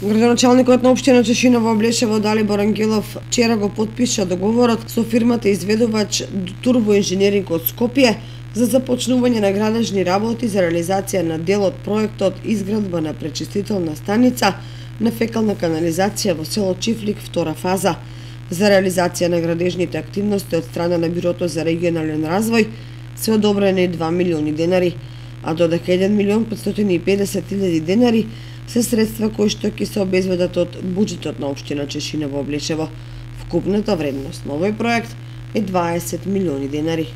Градоначалникот на општина Чешиново Облешево Далибор Ангелов вчера го потпиша договорот со фирмата изведувач Турбоинженеринг од Скопје за започнување на градежни работи за реализација на дел од проектот изградба на пречистителна станица на фекална канализација во село Чифлик, втора фаза. За реализација на градежните активности од страна на Бюрото за регионален развој се одобрени 2 милиони денари, а додека 1.550.000 денари се средства кои што ќе се обезбедат од буџетот на општина Чешиново Облешево. Вкупната вредност на овој проект е 20 милиони денари.